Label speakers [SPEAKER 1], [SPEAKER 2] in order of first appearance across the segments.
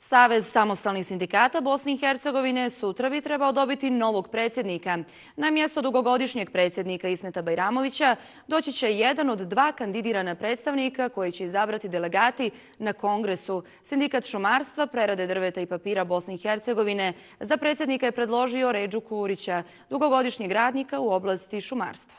[SPEAKER 1] Savez samostalnih sindikata Bosne i Hercegovine sutra bi trebao dobiti novog predsjednika. Na mjesto dugogodišnjeg predsjednika Ismeta Bajramovića doći će jedan od dva kandidirana predstavnika koji će izabrati delegati na kongresu. Sindikat šumarstva, prerade drveta i papira Bosne i Hercegovine za predsjednika je predložio Redžu Kurića, dugogodišnjeg radnika u oblasti šumarstva.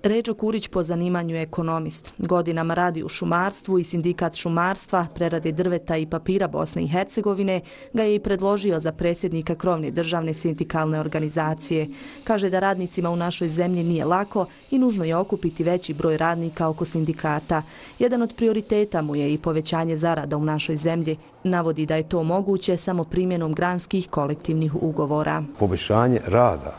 [SPEAKER 2] Redžo Kurić po zanimanju je ekonomist. Godinama radi u šumarstvu i sindikat šumarstva, prerade drveta i papira Bosne i Hercegovine ga je i predložio za predsjednika krovne državne sindikalne organizacije. Kaže da radnicima u našoj zemlji nije lako i nužno je okupiti veći broj radnika oko sindikata. Jedan od prioriteta mu je i povećanje zarada u našoj zemlji. Navodi da je to moguće samo primjenom granskih kolektivnih ugovora.
[SPEAKER 3] Poboljšanje rada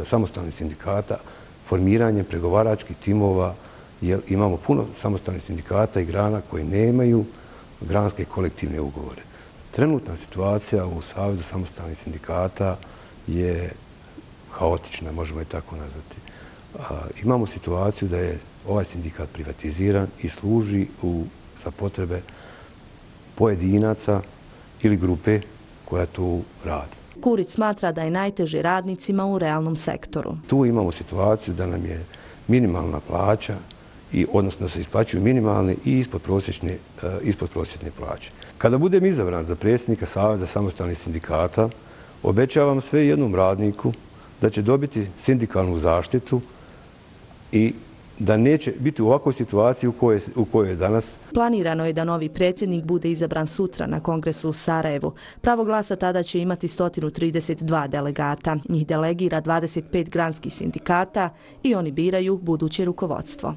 [SPEAKER 3] samostalnih sindikata, formiranje pregovaračkih timova, jer imamo puno samostalnih sindikata i grana koji nemaju granske kolektivne ugovore. Trenutna situacija u Savezu samostalnih sindikata je haotična, možemo je tako nazvati. Imamo situaciju da je ovaj sindikat privatiziran i služi za potrebe pojedinaca ili grupe koja tu radi.
[SPEAKER 2] Kurić smatra da je najteže radnicima u realnom sektoru.
[SPEAKER 3] Tu imamo situaciju da nam je minimalna plaća, odnosno da se isplaćuju minimalne i ispodprosječne plaće. Kada budem izabran za predsjednika Saveza samostalnih sindikata, obećavam sve jednom radniku da će dobiti sindikalnu zaštitu i da neće biti u ovakvoj situaciji u kojoj je danas.
[SPEAKER 2] Planirano je da novi predsjednik bude izabran sutra na kongresu u Sarajevu. Pravo glasa tada će imati 132 delegata. Njih delegira 25 granskih sindikata i oni biraju buduće rukovodstvo.